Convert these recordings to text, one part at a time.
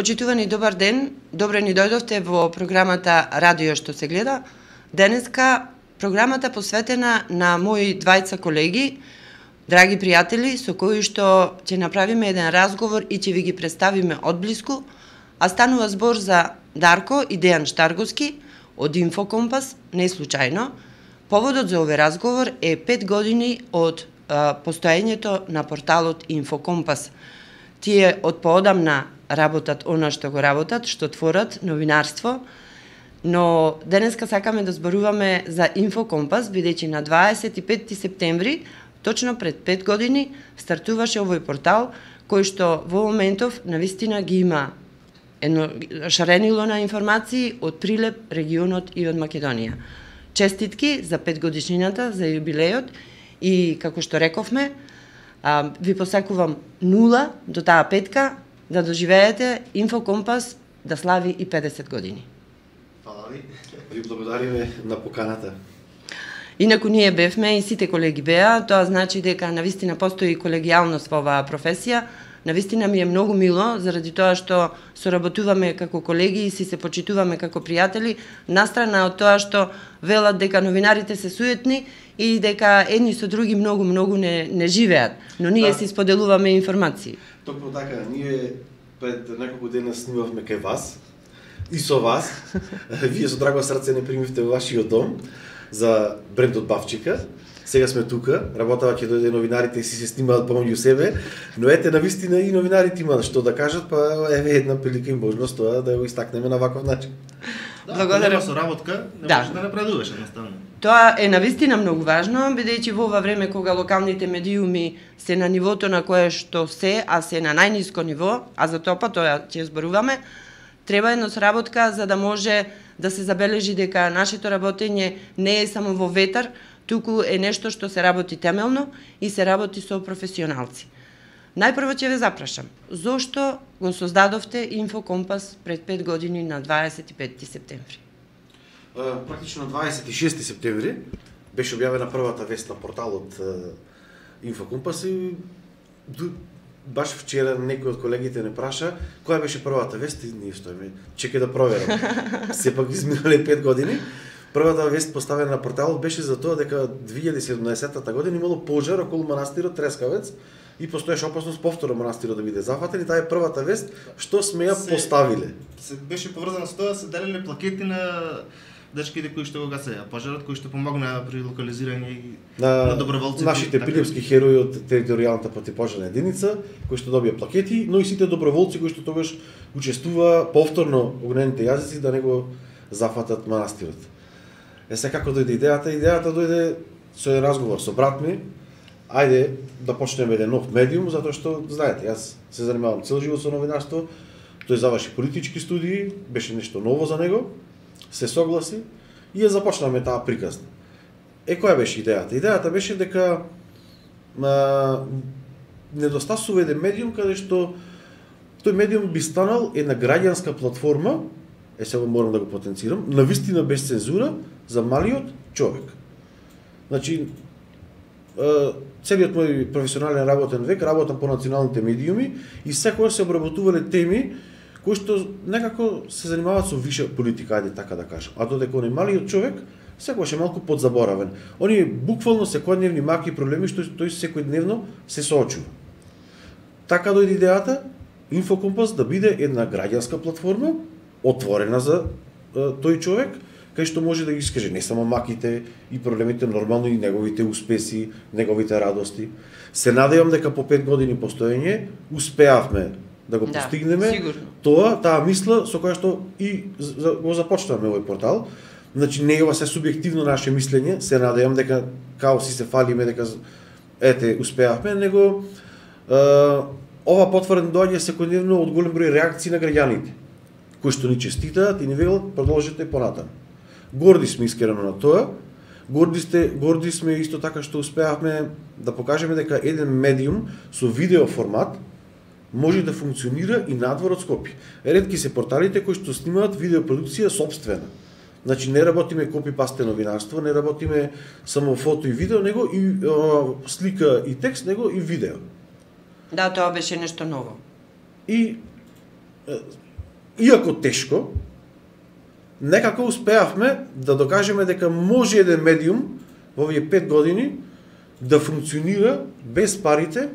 Почитувани добар ден, добре ни дојдовте во програмата Радио што се гледа. Денеска програмата посветена на мои двајца колеги, драги пријатели, со кои што ќе направиме еден разговор и ќе ви ги представиме одблиску, а станува збор за Дарко и Дејан Штарговски од Инфокомпас, не случајно. Поводот за овој разговор е 5 години од постоењето на порталот Инфокомпас. Тие од поодамна работат она што го работат, што творат новинарство, но денеска сакаме да зборуваме за Инфокомпас, бидејќи на 25 септември, точно пред 5 години, стартуваше овој портал, кој што во моментов навистина ги има едно шаренило на информации од Прилеп, регионот и од Македонија. Честитки за 5 годишнината, за јубилејот и, како што рековме, ви посакувам 0 до таа петка, да доживеете Инфокомпас да слави и 50 години. Фала ви. Ви благодариме на поканата. Инаку ние бевме и сите колеги беа, тоа значи дека навистина постои колегијалност во оваа професија. Навистина ми е многу мило, заради тоа што соработуваме како колеги и си се почитуваме како пријатели, настрана од тоа што велат дека новинарите се суетни и дека едни со други многу не живеат, но ние си споделуваме информации. Токму така, ние пред неколку дена снимавме кај вас и со вас. Вие со драго срце не примивте во вашиот дом за брендот Бавчика. Сега сме тука, работава ќе дојде новинарите и си се снимаат помеѓу себе, но ете навистина и новинарите имаат што да кажат, па еве една прилика и можност тоа да го истакнеме на ваков начин. Благодарам. Со работка не можеш да напредуваш едноставно. Тоа е навистина многу важно, бидејќи во ова време кога локалните медиуми се на нивото на кое што се, а се на најниско ниво, а за тоа ќе зборуваме, треба една соработка за да може да се забележи дека нашето работење не е само во ветар, туку е нешто што се работи темелно и се работи со професионалци. Најпрво ќе ве запрашам, зошто го создадовте Инфокомпас пред 5 години на 25 септември? Практично на 26 септември беше објавена првата вест на порталот Инфокомпас и баш вчера некој од колегите не праша која беше првата вест и ние стоиме, чекај да проверам. Сепак изминале 5 години. Првата вест поставена на порталот беше за тоа дека 2017 година имало пожар околу манастирот Трескавец и постоеше опасност повторно манастирот да биде зафатен и таа е првата вест што сме ја поставиле. Се беше поврзано со тоа, се делеле плакети на дечките кои што го гасеа пожарот, кои што помогнаа при локализирање на доброволците. Нашите прилепски херои од територијалната противпожарна единица, кои што добија плакети, но и сите доброволци кои што тогаш учествува повторно огнените јазици да не го зафатат манастирот. Како дојде идејата? Идејата дојде со еден разговор со брат ми. Ајде да почнеме еден нов медиум, затоа што, знаете, јас се занимавам цел живот со новинарство, тој заврши политички студии, беше нешто ново за него, се согласи и ја започнаме таа приказна. Која беше идејата? Идејата беше дека недостасува еден медиум каде што тој медиум би станал една граѓанска платформа, сега морам да го потенцирам, навистина без цензура за малиот човек. Значи, целиот мој професионален работен век работам по националните медиуми и секогаш се обработувале теми кои што некако се занимаваат со виша политика, ајде така да кажам. А додека оној малиот човек секогаш е малку подзаборавен. Оние буквално секојдневни маки проблеми што тој секојдневно се соочува. Така дојде идејата Инфокомпас да биде една граѓанска платформа, отворена за тој човек, кај што може да ги искаже не само маките и проблемите, нормално и неговите успеси, неговите радости. Се надевам дека по 5 години постоење успеавме да го постигнеме таа мисла со која што и го започнавме овој портал. Значи не е ова се субјективно наше мислење, се надевам дека као си се фалиме дека ете успеавме, него ова потврдено доаѓа секојдневно од голем број реакции на граѓаните кои што ни честитаат и ни велат продолжете понатаму. Горди сме искрено на тоа. Горди сме исто така што успеавме да покажеме дека еден медиум со видео формат може да функционира и надвор од Скопје. Ретки се порталите кои што снимаат видеопродукција сопствена. Значи не работиме копи-пасте новинарство, не работиме само фото и видео, него и слика и текст, него и видео. Да, тоа беше нешто ново. И иако тешко, некако успеавме да докажеме дека може еден медиум во овие 5 години да функционира без парите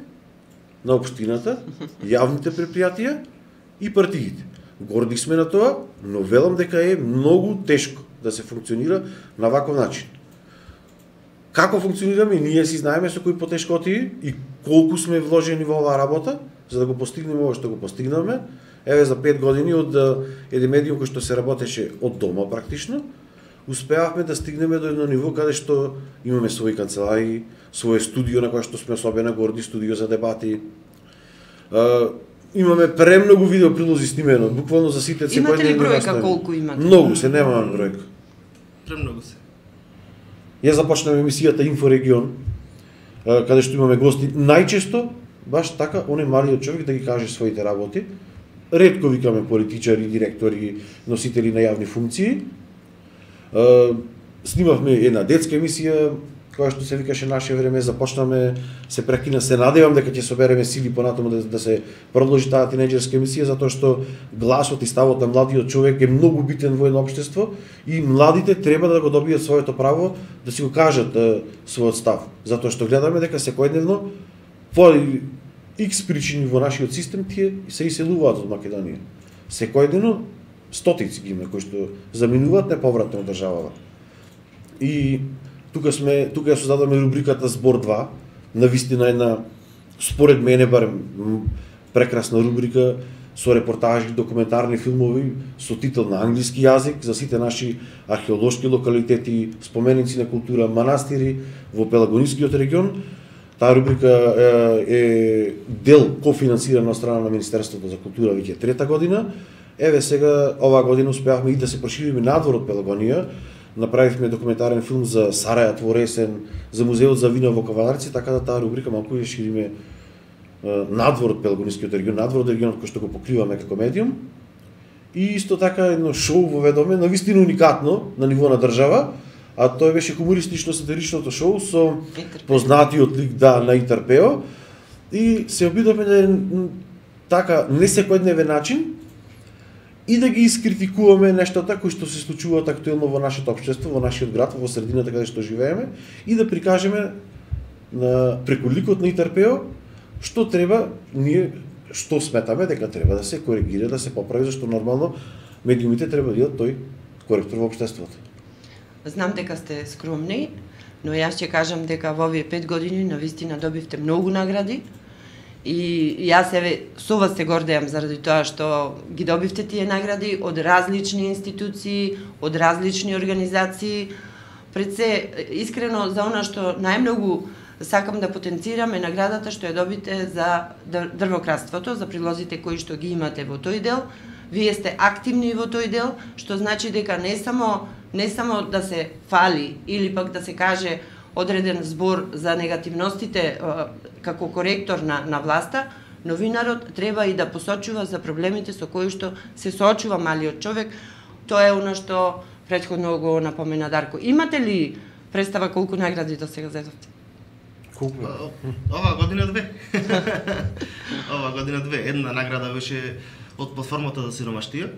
на општината, јавните предпријатија и партиите. Горди сме на тоа, но велам дека е многу тешко да се функционира на ваков начин. Како функционираме, ние си знаеме со кои потешкоти и колку сме вложени во оваа работа, за да го постигнеме ова што го постигнавме. Еве за 5 години од еден медиум кој што се работеше од дома практично, успеавме да стигнеме до едно ниво каде што имаме своји канцеларии, свое студио на кое што сме особено горди, студио за дебати. Имаме премногу видео прилози снимено, буквално за сите секој Имате ли бројка колку имате? Многу се, немаме бројка. Премногу се. Ја започнав емисијата Инфорегион, каде што имаме гости, најчесто баш така оној малиот човек да ги каже своите работи. Ретко викаме политичари, директори, носители на јавни функции. Снимавме една детска емисија која што се викаше Наше време, започнаме, се прекина, се надевам дека ќе собереме сили понатаму да се продолжи таа тинеџерска емисија, затоа што гласот и ставот на младиот човек е многу битен во едно општество и младите треба да го добијат своето право да си го кажат својот став, затоа што гледаме дека секојдневно по X причини во нашиот систем тие се иселуваат од Македонија. Секојдневно стотици ги има кои што заминуваат неповратно од државава. И тука ја создадаме рубриката Збор 2, навистина една, според мене барем, прекрасна рубрика со репортажи, документарни филмови со титул на англиски јазик за сите наши археолошки локалитети, споменици на култура, манастири во Пелагонискиот регион. Таа рубрика е дел кофинансирана од страна на Министерството за култура веќе 3-та година. Еве сега оваа година успеавме и да се прошириме надвор од Пелагонија. Направивме документарен филм за Сарајат во Ресен, за музеот за вино во Каванарци, така да таа рубрика малку ја шириме надвор од Пелагонискиот регион, надвор од регионот кој што го покриваме како медиум. И исто така едно шоу воведоме, навистина уникатно на ниво на држава, а тоа беше хумористично-сатиричното шоу со познатиот лик на Итарпео и се обидовме да така не секојдневен начин и да ги искритикуваме нештата кои што се случуваат актуелно во нашето општество, во нашиот град, во средината каде што живееме и да прикажеме преку ликот на Итарпео што треба ние што сметаме дека треба да се коригира, да се поправи, зашто нормално медиумите треба да бидат тој коректор во општеството. Знам дека сте скромни, но јас ќе кажам дека во овие 5 години навистина добивте многу награди и јас со вас се гордеам заради тоа што ги добивте тие награди од различни институции, од различни организации. Пред се, искрено за она што најмногу сакам да потенцирам е наградата што ја добите за дрвокраството, за прилозите кои што ги имате во тој дел. Вие сте активни во тој дел, што значи дека не само да се фали или пак да се каже одреден збор за негативностите како коректор на власта, новинарот треба и да посочува за проблемите со кои што се соочува малиот човек. Тоа е она што претходно го напомена Дарко. Имате ли представа колку награди до сега зедовте? Колку? Оваа година 2. Оваа година 2. Една награда беше од платформата за сиромаштија.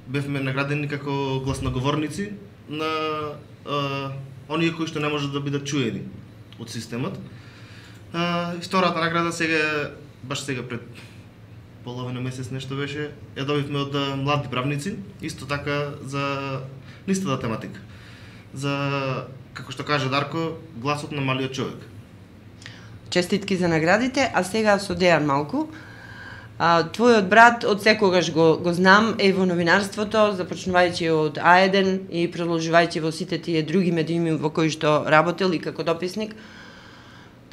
Бевме наградени како гласноговорници на оние кои што не можат да бидат чуени од системот. И втората награда баш сега пред половина месец нешто беше, ја добивме од млади правници, исто така за истата тематика. За, како што каже Дарко, гласот на малиот човек. Честитки за наградите, а сега со Дејан малку. Твојот брат од секогаш го знам е во новинарството, започнувајќи од А1 и продолжувајќи во сите тие други медиуми во кои што работел и како дописник.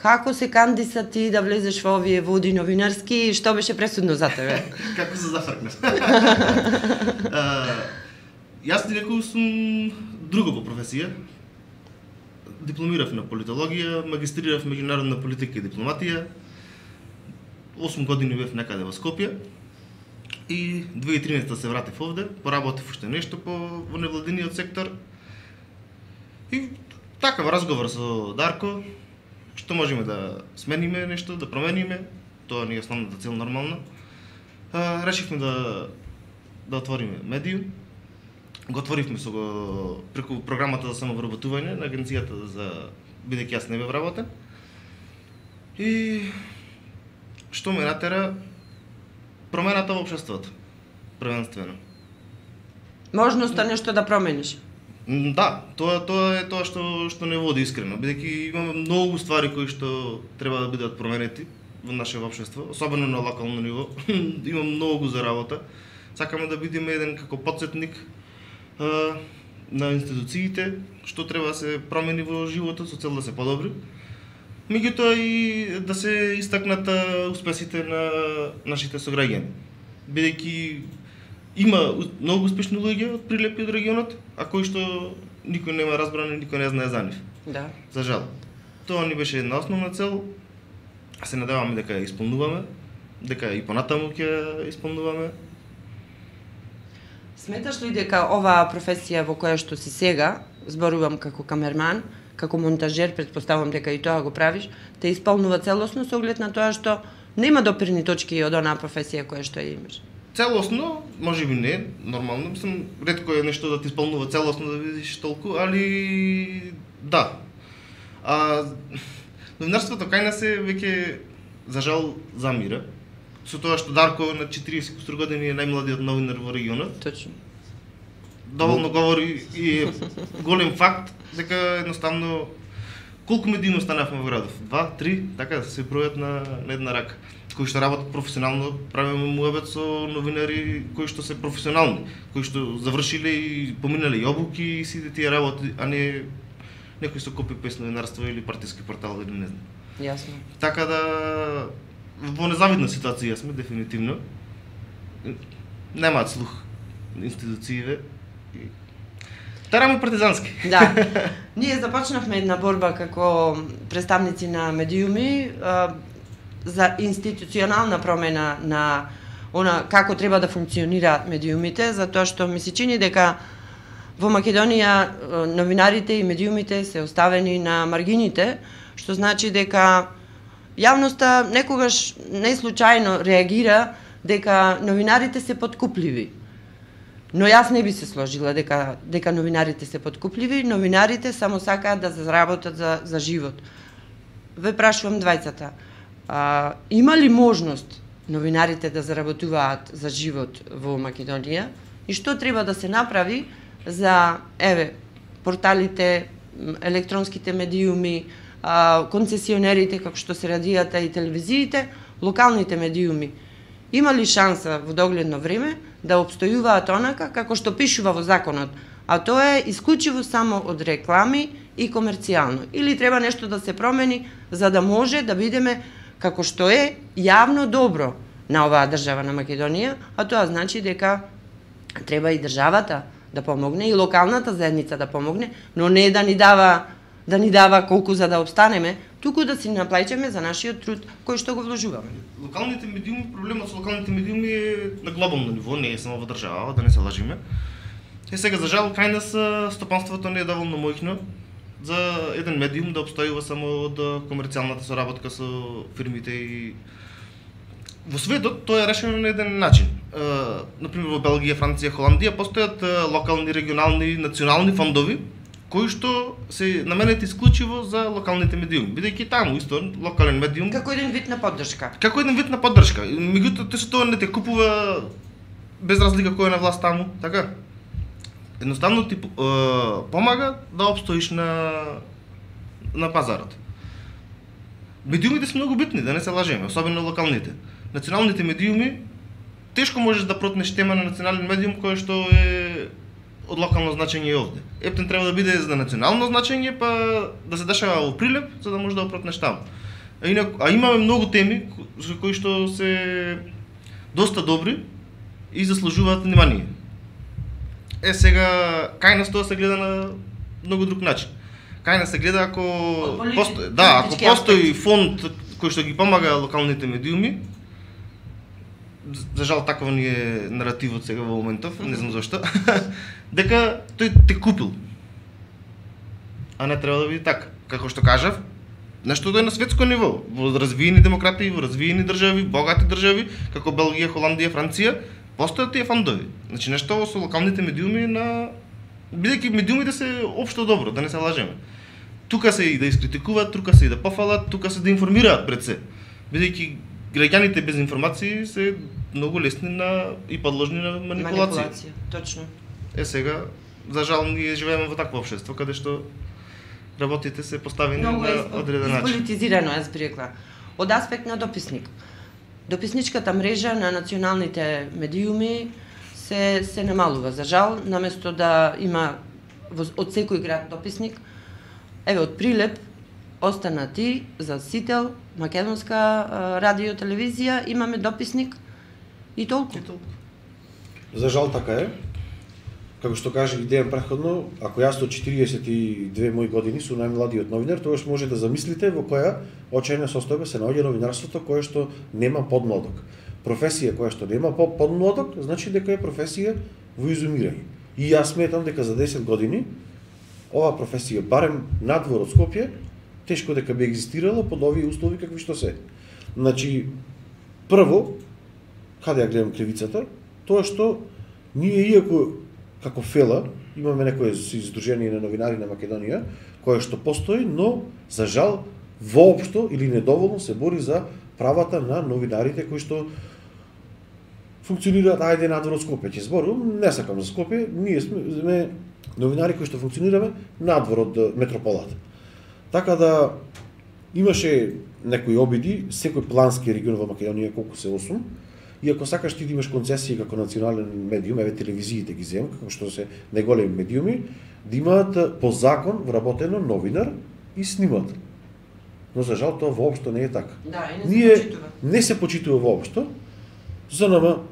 Како се кандиса ти да влезеш во овие води новинарски и што беше пресудно за тебе? Како се зафркнав? Јас директно сум друго по професија. Дипломирав на политологија, магистрирав меѓународна политика и дипломатија. 8 години бев некаде во Скопје и 2013 се вратив овде, поработив уште нешто во невладиниот сектор. И така во разговор со Дарко, што можеме да смениме нешто, да промениме, тоа ни е основната цел нормално. решивме да отвориме медиум. Го отворивме преку програмата за самовработување на агенцијата за бидејќи јас не бев работен. И што ме натера промената во општеството, првенствено. Можноста нешто да промениш. Да, тоа е тоа што не води искрено, бидејќи имаме многу ствари кои што треба да бидат променети во нашето општество, особено на локално ниво. Има многу за работа. Сакаме да бидеме еден како потсетник на институциите, што треба да се промени во животот со цел да се подобри. Меѓутоа и да се истакнат успесите на нашите сограѓани. Бидејќи има многу успешни луѓе од Прилеп и од регионот, а кои што никој нема разбрано и никој не знае за нив. Да. За жал. Тоа ни беше една основна цел. Се надеваме дека ја исполнуваме, дека и понатаму ќе ја исполнуваме. Сметаш ли дека оваа професија во која што си сега, зборувам како камерман, како монтажер, претпоставувам дека и тоа го правиш, те исполнува целосно со оглед на тоа што нема допирни точки од онаа професија која што ја имаш? Целосно, можеби не, нормално, мислам, ретко е нешто да ти исполнува целосно да видиш толку, али да. Новинарството кај нас е веќе за жал замира. Со тоа што Дарко на 40 години е најмладиот новинар во регионот. Точно. Доволно говори и голем факт дека едноставно колку медиуми останавме во градов? 2, 3, така се бројат на една рака. Кои што работат професионално, правиме муабет со новинари кои што се професионални, кои што завршиле и поминале и обуки и сите тие работи, а не некој со копи-пейст новинарство или партиски портал или не знам. Јасно. Така да во незавидна ситуација сме дефинитивно. Немаат слух институциите. Тараме партизански. Да. Ние започнавме една борба како представници на медиуми за институционална промена на она како треба да функционираат медиумите, затоа што ми се чини дека во Македонија новинарите и медиумите се оставени на маргините, што значи дека јавноста некогаш не случајно реагира дека новинарите се подкупливи. Но јас не би се сложила дека новинарите се подкупливи, новинарите само сакаат да заработат за живот. Ве прашувам двајцата, има ли можност новинарите да заработуваат за живот во Македонија и што треба да се направи за порталите, електронските медиуми, концесионерите како што се радијата и телевизиите, локалните медиуми? Има ли шанса во догледно време да обстојуваат онака како што пишува во законот, а тоа е исклучиво само од реклами и комерцијално? Или треба нешто да се промени за да може да бидеме како што е јавно добро на оваа држава на Македонија, а тоа значи дека треба и државата да помогне и локалната заедница да помогне, но не да ни дава колку за да обстанеме, туку да си наплаќаме за нашиот труд кој што го вложуваме. Локалните медиуми, проблемот со локалните медиуми е на глобално ниво, не е само во држава, да не се лажиме. Сега за жал кај нас стопанството не е доволно моќно за еден медиум да обстојува само од комерцијалната соработка со фирмите и во светот тоа е решено на еден начин. Например во Белгија, Франција, Холандија постојат локални, регионални, национални фондови кои што се наменети исклучиво за локалните медиуми, бидејќи таму исто локален медиум како еден вид на поддршка. Како еден вид на поддршка. Меѓутоа тоа не те купува без разлика кој е на власт таму, така? Едноставно ти помага да обстоиш на пазарот. Медиумите се многу битни, да не се лажеме, особено локалните. Националните медиуми тешко можеш да протнеш тема на национален медиум кој што е од локално значење и овде. Ептен треба да биде за национално значење, па да се дешава во Прилеп, за да може да го протнеш таму. А имаме многу теми кои што се доста добри и заслужуваат внимание. Сега кај нас тоа се гледа на многу друг начин. Кај нас се гледа ако постои фонд кој што ги помага локалните медиуми. За жал таков ни е наративот сега во моментов, не знам зашто. Дека тој те купил. А не треба да биде така. Како што кажав, Нешто да е на светско ниво, во развиени демократии, во развиени држави, богати држави, како Белгија, Холандија, Франција, постојат тие фондови. Значи нешто со локалните медиуми бидејќи медиумите се општо добро, да не се лажеме. Тука се и да искритикуваат, тука се и да пофалат, тука се да информираат пред се. Бидејќи граѓаните без информации се многу лесни и подложни на манипулација. Точно. Сега, за жал, ние живееме во такво општество каде што работите се поставени на одреден начин. Изполитизирано, јас би рекла. Од аспект на дописник. Дописничката мрежа на националните медиуми се намалува. За жал, наместо да има од секој град дописник, еве од Прилеп остана ти, за Сител, македонска радио телевизија, имаме дописник и толку. За жал така е. Како што кажа Дејан претходно, ако јас од 42 мои години сум најмладиот новинар, тогаш може да замислите во која очајна состојба се наоѓа новинарството кое што нема подмладок. Професија која што нема подмладок, значи дека е професија во изумирање. И јас сметам дека за 10 години ова професија, барем надвор од Скопје, тешко дека би екзистирала под овие услови какви што се. Значи, прво, каде ја гледам кривицата, тоа што ние иако како ФЕЛА имаме некое издружение на новинари на Македонија, кое што постои, но за жал воопшто или недоволно се бори за правата на новинарите кои што функционираат ајде надвор од Скопје. Ќе зборувам, не сакам за Скопје, ние сме новинари кои што функционираме надвор од метрополата. Така да имаше некои обиди, секој плански регион во Македонија колку се 8, и ако сакаш ти да имаш концесија како национален медиум, еве телевизиите ги земам, како што се најголеми медиуми, да имаат по закон вработено новинар и снимател. Но за жал тоа воопшто не е така. Да, и не се почитува воопшто. За нама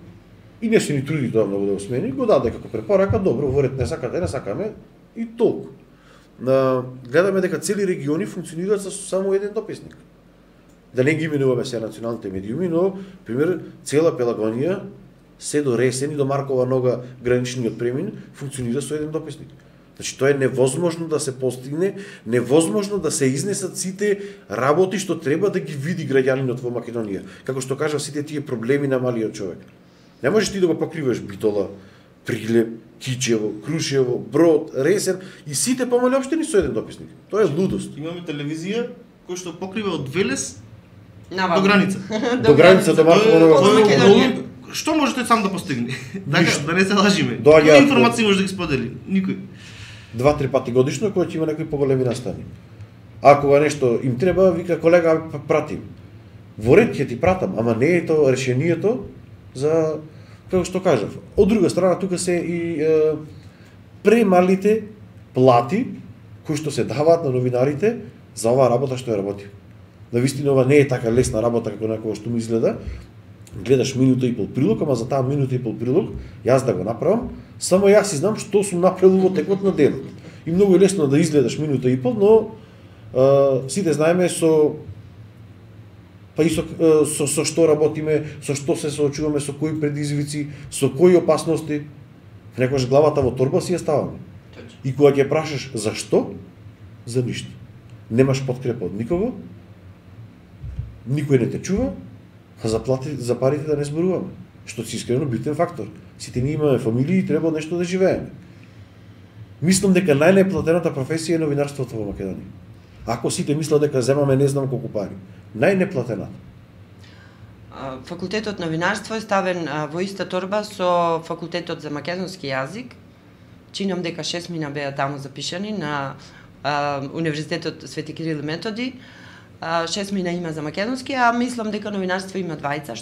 и не се ни труди тоа многу да го смени, го даде како препорака, добро, во ред не сакаме и толку. Гледаме дека цели региони функционираат со само еден дописник. Да не ги именуваме се националните медиуми, но, пример, цела Пелагонија, се до Ресен и до Маркова нога граничниот премин, функционира со еден дописник. Значи, тоа е невозможно да се постигне, невозможно да се изнесат сите работи што треба да ги види граѓанинот во Македонија. Како што кажав, сите тие проблеми на малиот човек. Не можеш ти да го покриваш Битола, Прилеп, Кичево, Крушево, Брод, Ресен и сите помали општини со еден дописник. Тоа е лудост. Имаме телевизија која што покрива од Велес Навам. до граница. До граница до Маркова. Што може тој сам да постигне? Така, да не се лажиме. Која информација може да ги сподели? Никој. 2-3 пати годишно кој ќе има некои поголеми настани. А кога нешто им треба, вика колега пратим. Во ред ќе ти пратам, ама не е тоа решението за, како што кажав. Од друга страна тука се и премалите плати кои што се даваат на новинарите за оваа работа што ја работи. Навистина ова не е така лесна работа како некоја што ми изгледа. Гледаш минута и пол прилог, ама за таа минута и пол прилог јас да го направам, само јас си знам што сум направил во текот на денот. И многу е лесно да изгледаш минута и пол, но сите знаеме со што работиме, со што се соочуваме, со кои предизвици, со кои опасности. Некогаш главата во торба си ја ставаме. И кога ќе прашаш зашто, за ништо. Немаш подкрепа од никого, никој не те чува, а за парите да не зборуваме, што си искрено битен фактор. Сите ние имаме фамилии и треба нешто да живееме. Мислам дека најнеплатената професија е новинарството во Македонија. Ако сите мислат дека земаме не знам колку пари, најнеплатената. Факултетот новинарство е ставен во иста торба со факултетот за македонски јазик. Чинам дека 6 мина беа таму запишани на Универзитетот Свети Кирил и Методи. 6 мина има за македонски, а мислам дека новинарство има 2,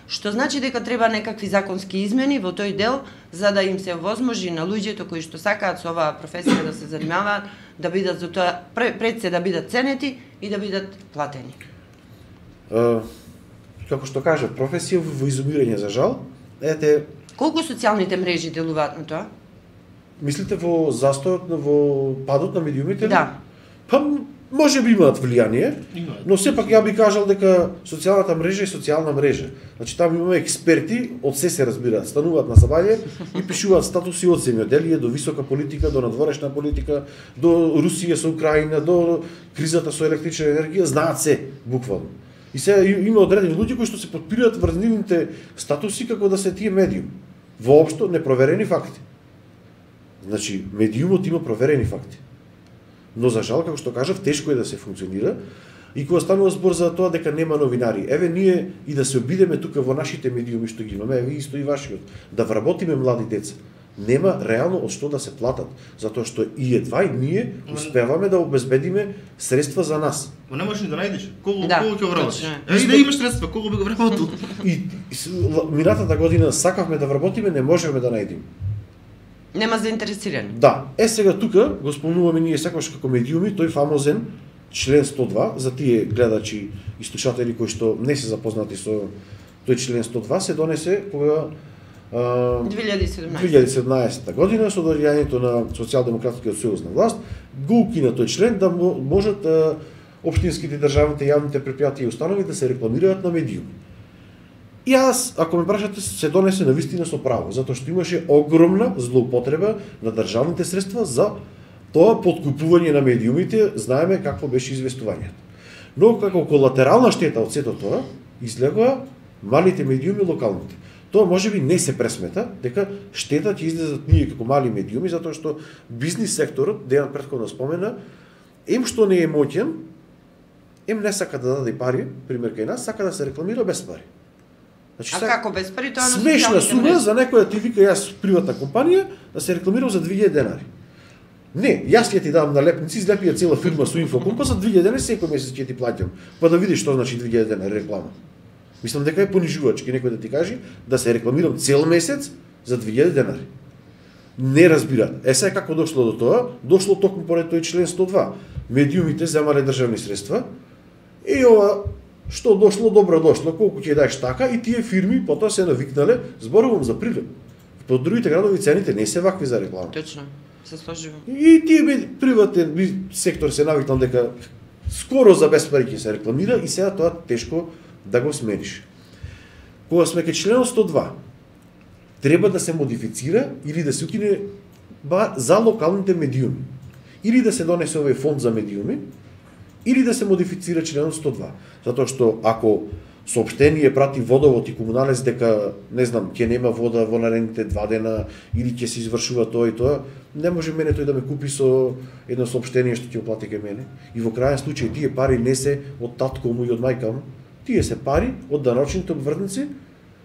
што значи дека треба некакви законски измени во тој дел за да им се овозможи на луѓето кои што сакаат со оваа професија да се занимаваат, да бидат за тоа пред се да бидат ценети и да бидат платени. Како што кажа, професија во изумирање за жал. Колку социјалните мрежи делуваат на тоа? Мислите во застојот, во падот на медиумите? Да. Па може би имаат влијание, но сепак ја би кажал дека социјалната мрежа е социјална мрежа. Значи таму имаме експерти, од се разбираат, стануваат на сабање и пишуваат статуси од земјоделие до висока политика, до надворешна политика, до Русија со Украина, до кризата со електрична енергија, знаат се буквално. И се има одредени луѓе кои што се подпираат врз нивните статуси како да се тие медиум. Воопшто непроверени факти. Значи, медиумот има проверени факти. Но за жал, како што кажав, тешко е да се функционира и кога станува збор за тоа дека нема новинари. Еве ние и да се обидеме тука во нашите медиуми што ги имаме, еве исто и вашиот, да вработиме млади деца. Нема реално од што да се платат, затоа што и едва и ние успеваме да обезбедиме средства за нас. Ма не можеш ни да најдеш. Колку ќе вработиш? И да имаш средства, колку би го вработил? И минатата година сакавме да вработиме, не можеме да најдеме. Нема заинтересирани. Да. Сега тука го спомнуваме ние секогаш како медиуми тој фамозен член 102 за тие гледачи и слушатели кои што не се запознати со тој член 102 се донесе кога 2017 година со доаѓањето на Социјалдемократскиот сојуз на власт го укина тој член да можат општинските, државните, јавните предпријатија и установи да се рекламираат на медиуми. И аз, ако ме прашате, се донесе навистина со право, затоа што имаше огромна злоупотреба на државните средства за тоа подкупување на медиумите, знаеме какво беше известувањето. Но како колатерална штета од сето тоа, излегоа малите медиуми локалните. Тоа можеби не се пресмета, дека штета ќе излезат ние како мали медиуми, затоа што бизнис секторот, Дејан претходно спомена, што не е моќен, не сака да даде пари, пример кај нас, сака да се рекламира без пари. Значи, како без пари тоа на смешна сума за некоја ти вика јас приватна компанија да се рекламирам за 2000 денари. Не, јас ќе ти дам налепници, излепија цела фирма со инфокомпа за 2000 денари секој месец ќе ти плаќам. Па да видиш што значи 2000 денари реклама. Мислам дека е понижувачки некој да ти каже да се рекламирам цел месец за 2000 денари. Не разбираат. Сега како дошло до тоа? Дошло токму поред тој член 102. Медиумите земале државни средства и ова што дошло, добро дошло, колку ќе даеш така и тие фирми потоа се навикнале, зборувам за прилеп. По другите градови цените не се вакви за реклама. Точно, се сложувам. И тие приватен сектор се навикнал дека скоро за без пари ќе се рекламира и сега тоа тешко да го смениш. Кога сме кај членот 102, треба да се модифицира или да се укине за локалните медиуми. Или да се донесе овој фонд за медиуми, или да се модифицира членот 102. Затоа што ако соопштение прати водовод и комуналец дека, не знам, ќе нема вода во наредните 2 дена или ќе се извршува тоа и тоа, не може мене тој да ме купи со едно соопштение што ќе оплати кај мене. И во крајен случај тие пари не се од татко му и од мајка му, тие се пари од даночните обвртници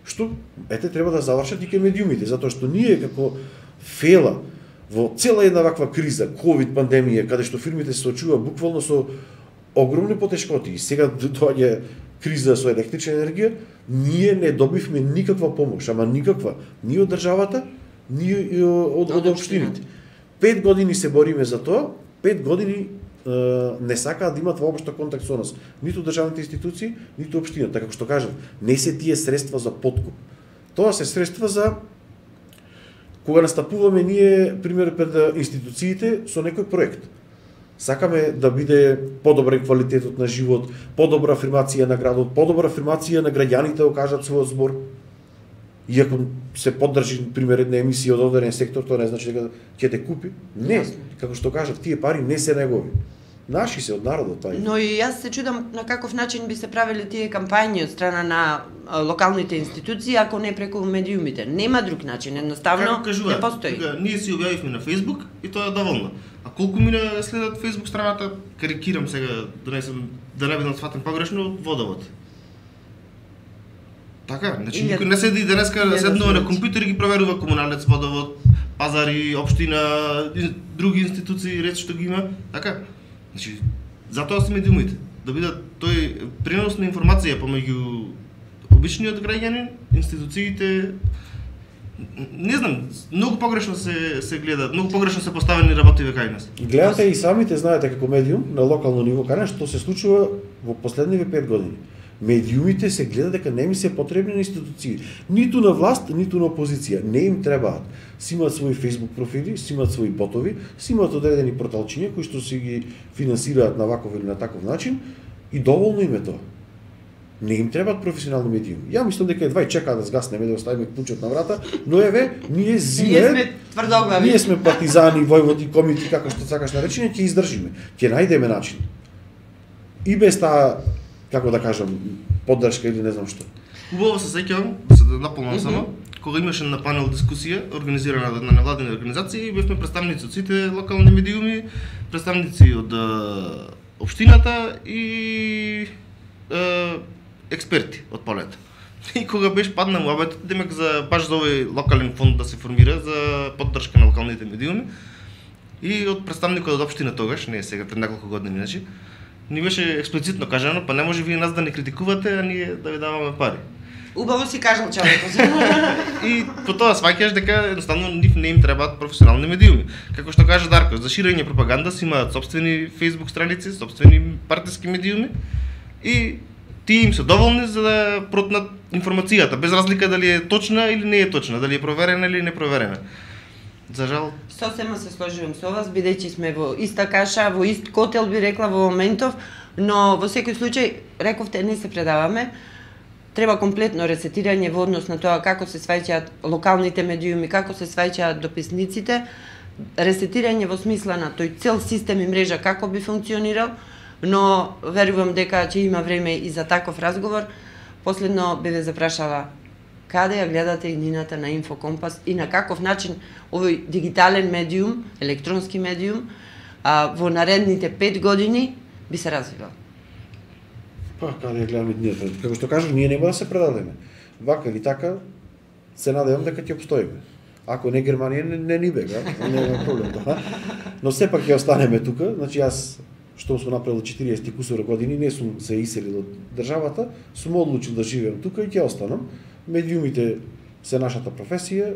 што треба да завршат и кај медиумите, затоа што ние како фела во цела една ваква криза, ковид пандемија, каде што фирмите се соочува буквално со огромни потешкоти и сега доаѓа криза со електрична енергија, ние не добивме никаква помош, ама никаква, ни од државата, ни од општините. 5 години се бориме за тоа, 5 години не сакаат да имат воопшто контакт со нас, ниту државните институции, ниту општината, како што кажам, не се тие средства за подкуп. Тоа се средства за кога настапуваме ние, пример, пред институциите со некој проект. Сакаме да биде подобрен квалитетот на живот, подобра афирмација на градот, подобра афирмација на граѓаните да кажат својот збор. Иако се поддржи, пример, една емисија од одреден сектор, тоа не значи дека ќе те купи. Не, како што кажав, тие пари не се негови. Наши се од народот тај. Но и јас се чудам на каков начин би се правеле тие кампањи од страна на локалните институции, ако не преку медиумите. Нема друг начин, едноставно не постои. Ние си објавивме на Facebook и тоа е доволно. А колку мина следат Facebook страната, карикирам сега, да не бидам сватен погрешно, водовод. Така, значи никој не седи денеска седнува на компјутер и ги проверува комуналец, водовод, пазари, општина, други институции, ред што ги има, така. Значи, затоа се медиумите, да бидат тој пренос на информација помеѓу обичниот граѓанин, институциите, не знам, многу погрешно се гледа, многу погрешно се поставени работи кај нас. Гледате и самите знаете како медиум на локално ниво, кај нас што се случува во последниве 5 години. Медиумите се гледа дека не ми се потребни на институции, ниту на власт, ниту на опозиција, не им требаат. Си имаат своји Facebook профили, си имаат своји ботови, си имаат одредени порталчиња кои што си ги финансираат на ваков или на таков начин и доволно им е тоа. Не им требаат професионални медиуми. Ја мислам дека едва чекаат да згаснеме, да оставиме клучот на врата, но еве, ние сме тврдоглави. Ние сме партизани, војводи, комити, како што сакаш наречени, ќе издржиме. Ќе најдеме начин. И без таа, како да кажам, поддршка или не знам што. Убаво се сеќавам, да се наполнам само, кога имаше на панел дискусија организирана на невладени организации, бевме представници од сите локални медиуми, представници од општината и експерти од полето. И кога беше падна муабетот, демек баш за овој локален фонд да се формира за поддршка на локалните медиуми, и од представникот од општина тогаш, не е сега, пред неколку години, значи, ни беше експлицитно кажано, па не може вие нас да не критикувате, а ние да ви даваме пари. Убаво си кажал човекот. И по тоа сваќаш дека едноставно нив не им требаат професионални медиуми. Како што кажа Дарко, за ширење пропаганда си имаат собствени Facebook страници, собствени партиски медиуми и тие им се доволни за да протнат информацијата, без разлика дали е точна или не е точна, дали е проверена или не проверена. За жал. Сосема се сложувам со вас, бидејќи сме во иста каша, во ист котел би рекла во моментов, но во секој случај, рековте, не се предаваме. Треба комплетно ресетирање во однос на тоа како се сваќаат локалните медиуми, како се сваќаат дописниците, ресетирање во смисла на тој цел систем и мрежа како би функционирал, но верувам дека ќе има време и за таков разговор. Последно би ве запрашала каде ја гледате иднината на Инфокомпас и на каков начин овој дигитален медиум, електронски медиум, во наредните 5 години би се развивал? Па, каде ја гледаме иднината? Како што кажав, ние нема да се предадеме. Вака или така, се надевам дека ќе обстоиме. Ако не Германија, не ни бега, нема проблем тоа. Но сепак ќе останеме тука, значи јас што сум направил 40 кусура години, не сум се иселил од државата, сум одлучил да живеам тука и ќе останам. Медиумите се нашата професија,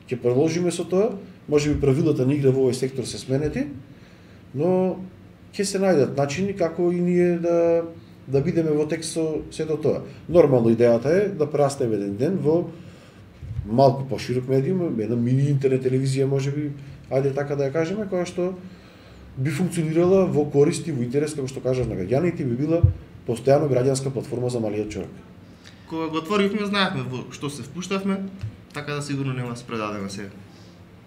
ќе продолжиме со тоа, можеби правилата на игра во овој сектор се сменети, но ќе се најдат начини како и ние да бидеме во текст со сето тоа. Нормално идејата е да прерастеме еден ден во малку поширок медиум, една мини интернет телевизија можеби, ајде така да ја кажеме, која што би функционирала во корист и во интерес, како што кажав, на граѓаните, би била постојано граѓанска платформа за малиот човек. Кога го отворивме, знаевме во што се впуштавме, така да сигурно нема да се предадеме сега.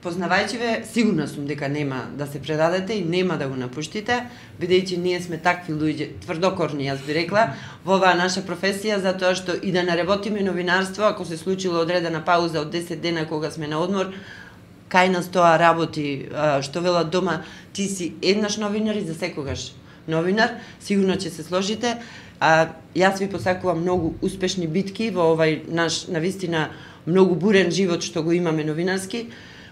Познавајќи ве, сигурна сум дека нема да се предадете и нема да го напуштите, бидејќи ние сме такви луѓе, тврдокорни, јас би рекла, во оваа наша професија, затоа што и да не работиме новинарство, ако се случило одредена пауза од 10 дена кога сме на одмор, кај нас тоа работи, што велат дома, ти си еднаш новинар и за секогаш новинар, сигурно ќе се сложите. Јас ви посакувам многу успешни битки во овај наш, навистина, многу бурен живот што го имаме новинарски.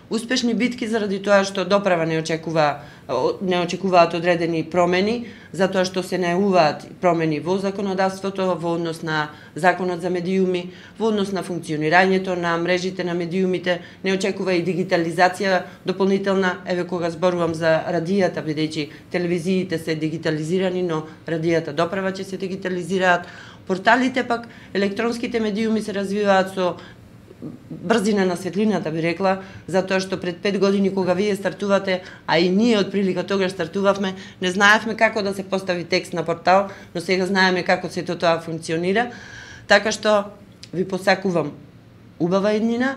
Успешни битки заради тоа што доправа не очекуваат одредени промени, затоа што се најавуваат промени во законодавството, во однос на законот за медиуми, во однос на функционирањето на мрежите на медиумите, не очекува и дигитализација дополнителна, еве кога зборувам за радијата, бидејќи телевизиите се дигитализирани, но радијата доправа ќе се дигитализираат. Порталите пак, електронските медиуми се развиваат со брзина на светлината, би рекла, затоа што пред 5 години кога вие стартувате, а и ние од прилика тогаш стартувавме, не знаевме како да се постави текст на портал, но сега знаеме како сето тоа функционира. Така што ви посакувам убава иднина,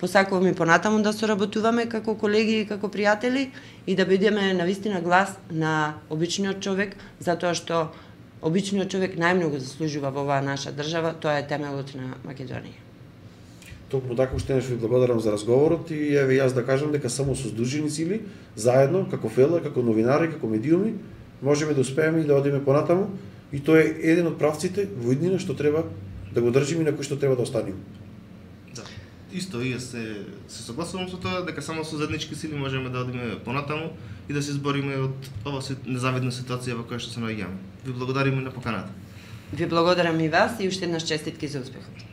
посакувам и понатаму да соработуваме како колеги и како пријатели и да бидеме навистина глас на обичниот човек, затоа што обичниот човек најмногу заслужува во оваа наша држава, тоа е темелот на Македонија. Токму така уште еднаш ви благодарам за разговорот и еве јас да кажам дека само со здружени сили, заедно, како фела, како новинари, како медиуми, можеме да успееме и да одиме понатаму и тоа е еден од правците во иднина што треба да го држиме и на кој што треба да останеме. Да. Исто и се согласувам со тоа дека само со заеднички сили можеме да одиме понатаму и да се избориме од оваа незавидна ситуација во која што се наоѓаме. Ви благодариме на поканата. Ви благодарам и вас и уште еднаш честитки за успехот.